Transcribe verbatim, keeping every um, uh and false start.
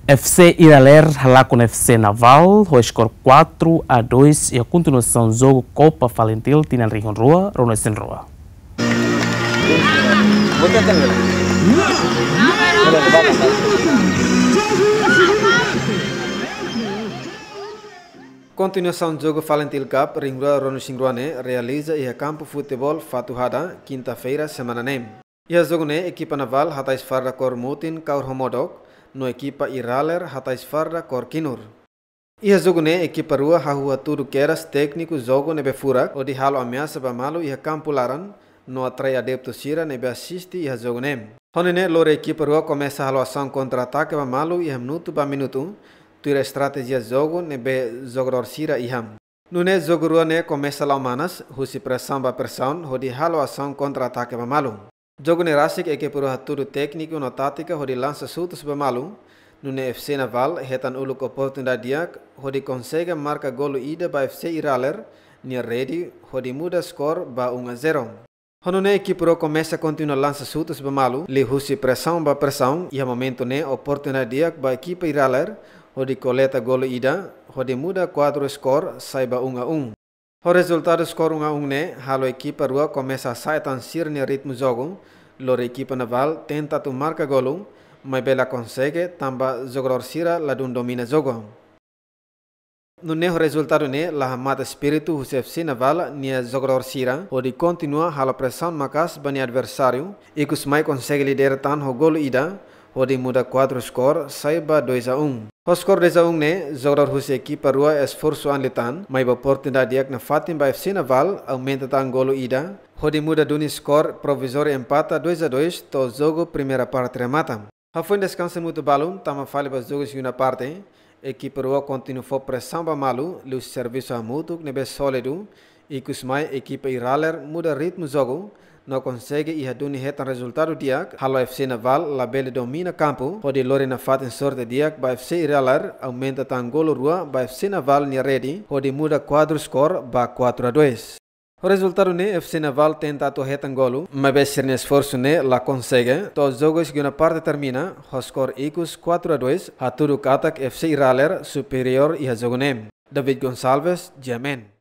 F C Iralere halakon F C Naval ho skor quatro a dois iha kontinuasaun jogu Copa Falintil tinan rihun rua ruanulu-resin-rua. Kontinuasaun jogu Falintil Cup rihun rua ruanulu-resin-rua ne'e realiza iha kampu futeból Fatuhada, kinta-feira semana ne'e. Iha jogu ne'e ekipa Naval hatais farda kór mutin kaur ho modok, no ekipa Iralere hatais farda kór kinur. Iha jogu ne'e ekipa rua hahú hatudu kedas tékniku jogu ne'ebé furak hodi halo ameasa ba malu iha kampu laran, no atrai adeptu sira ne'ebé asiste iha jogu ne'e. Ho nune'e lori ekipa rua komesa halo asaun kontra-atake ba malu iha minutu ba minutu, tuir estratéjia jogu ne'ebé jogadór sira iha. Nune'e jogu rua ne'e komesa la'o manas, husi presaun ba presaun, hodi halo asaun kontra-atake ba malu. Jogu ne'e rasik ekipa rua hatudu tékniku no tátika hodi lansa xutus ba malu, nune'e F C Naval hetan uluk oportunidade di'ak hodi konsege marka golu ida ba F C Iralere nia rede hodi muda skor ba um a zero. Ho nune'e ekipa rua komesa kontinua lansa xutus ba malu, liuhusi presaun ba presaun, iha momentu ne'e oportunidade di'ak ba ekipa Iralere hodi koleta golu ida, hodi muda kuadru skor sai ba um a um. Ho rezultadu skor um a um ne'e, halo ekipa rua komesa sa'e tan sira-nia ritmu jogu, lori ekipa Naval tenta atu marka golu, maibé la konsege tanba jogadór sira ladún domina jogu. Nune'e ho rezultadu ne'e la hamate espíritu husi F C Naval nia jogadór sira, hodi kontinua halo presaun maka'as ba nia adversáriu, ikus mai konsege lidera tan ho golu ida, hodi muda kuadru skor sai ba dois a um. Ho skor dois a um ne'e, jogadór husi ekipa rua esforsu an liután, maibé oportunidade di'ak nafatin ba F C Naval, aumenta tan golu ida, hodi muda duni skor provizóriu empata dois a dois, to'o jogu primeira parte remata. Hafoin deskansa minutu balun, tama fali ba jogu segunda parte, ekipa rua kontinua fó presaun ba malu, liuhusi servisu hamutuk ne'ebé sólidu, ikus mai ekipa Iralere muda ritmu jogu, no konsege iha duni hetan rezultadu di'ak, halo F C Naval labele domina kampu, hodi lori nafatin sorte di'ak ba F C Iralere, aumenta tan golu rua ba F C Naval nia rede, hodi muda kuadru skor ba quatro a dois. Ho rezultadu ne'e F C Naval tenta atu hetan golu, maibé sira-nia esforsu ne'e la konsege, to'o jogu segunda parte termina, ho skor ikus quatro a dois, hatudu katak F C Iralere superiór iha jogu ne'e. David Gonçalves, G M N.